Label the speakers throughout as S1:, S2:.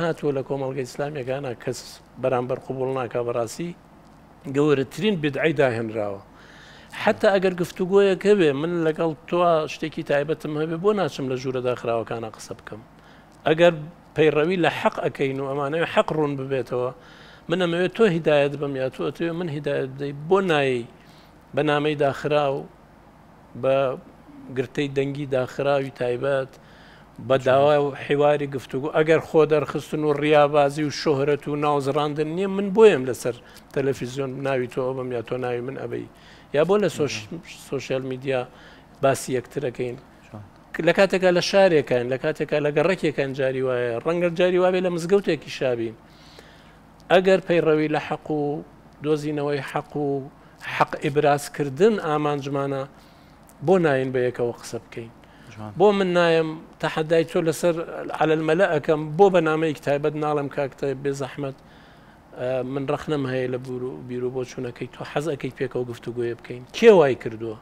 S1: هاتووە لە کۆمەڵگە ئیسلامیەکانا کەس بەرامبەر قبوڵ ناکا بەڕاستی گەورەترین بدعەی داهێنراوە حتا ئەگەر گفتوگۆیەک هەبێ من لەگەڵ تۆ شتێکی تایبەتم هەبێ بۆ ناچم لە ژوورە داخراوەکانە قسە بکەم ئەگەر پەیڕەوی لە حەق ئەەکەین و ئەمانەوە حەق ڕوون ببێتەوە من ئەمەوێت تۆ هیدایەت بم یا تۆ ئەتەوێ من هیدایەت بدەی بۆ نایی بە نامەی داخراو بە گرتەی دەنگی داخراوی تایبەت، بە داوا و حیواری گفتوگۆ، ئەگەر خۆ دەرخستن و ڕیابازی و شۆهرەت و ناوزڕاندن نییە، من بۆیەم لەسەر تەلەفیزیۆن ناوی تۆ ئەبەم یا تۆ ناوی من ئەبەی یا بۆ لە سۆشیال میدیا باسی یەکترەکەین لە کاتێکا لە شارێکان لە کاتێکا لە گەڕەکێکان جاری وایە ڕەنگە جاری وابێ لە مزگەوتێکی شابین ئەگەر پەیڕەوی لە حەق و دۆزینەوەی حەق و حەق ئیبرازکردن ئامانجمانە بۆ ناین بە یەکەوە قسە بکەین؟ بۆ من نایەم تەحەدای تۆ لەسەر عەلە المەلە ئەکەم بۆ بە نامەیەکی تایبەت ناڵێم کاک تایب بێ زەحمەت من ڕەخنەم هەیە لە بیر و بۆچوونەکەی تۆ حەز ئەکەیت پێکەوە گفتوگۆیە بکەین کێ وای کردووە؟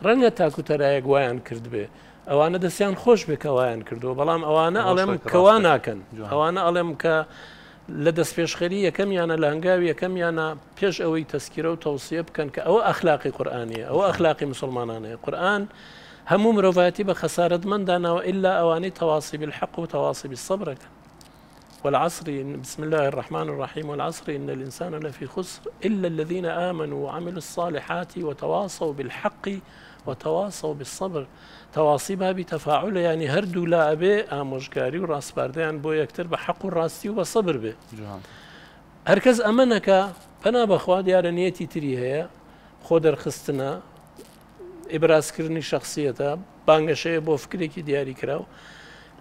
S1: ڕەنگە تاک و تەرایەک وایان کردبێ ئەوانە دەستیان خۆش بێ کە وایان کردووە بەڵام ئەوانە ئەڵێم کەوا ناکەن ئەوانە ئەڵێم کە لە دەستپێشخەری یەکەمیانە لە هەنگاوی یەکەمیانە پێش ئەوەی تەسکیرە و تەوسیە بکەن کە ئەوە ئەخلاقی قورئانیە ئەوە ئەخلاقی مسلمانانەیە قورئان هەموو مرۆڤایەتی بە خەسارەتمەند داناوە ئللا ئەوانەی تەواسی بالحق و تەواسی بالصبر ئەکەن والعصر بسم الله الرحمن الرحيم والعصر إن الإنسان لفي خسر إلا الذين آمنوا وعملوا الصالحات وتواصوا بالحق وتواصوا بالصبر تواصی بابی تەفاعولە یانی هەردوو لا ئەبێ ئامۆژگاری و ڕاسپاردەیان بۆ یەکتر بە حەق و ڕاستی و بە سەبر بێ هەرکەس ئەمە نەکا پەنا بەخوا دیارە نیەتی تری هەیە خۆ دەرخستنە ئیبرازکردنی شخصیەتە بانگەشەیە بۆ فکرێکی دیاری کراو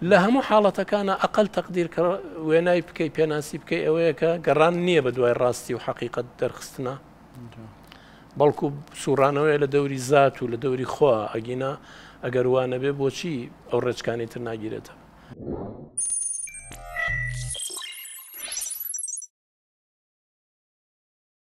S1: لە هەموو حاڵەتەکانە ئەقل تەقدیر کە وێنای بکەی پێناسی بکەی ئەوەیە کە گەڕان نییە بە دوای ڕاستی و حەقیقەت دەرخستنە بەڵکو سوڕانەوەیە لە دەوری زات و لە دەوری خوا ئەگینا ئەگەر وا نەبێ بۆچی ئەو ڕێچکانی تر ناگیرێتە.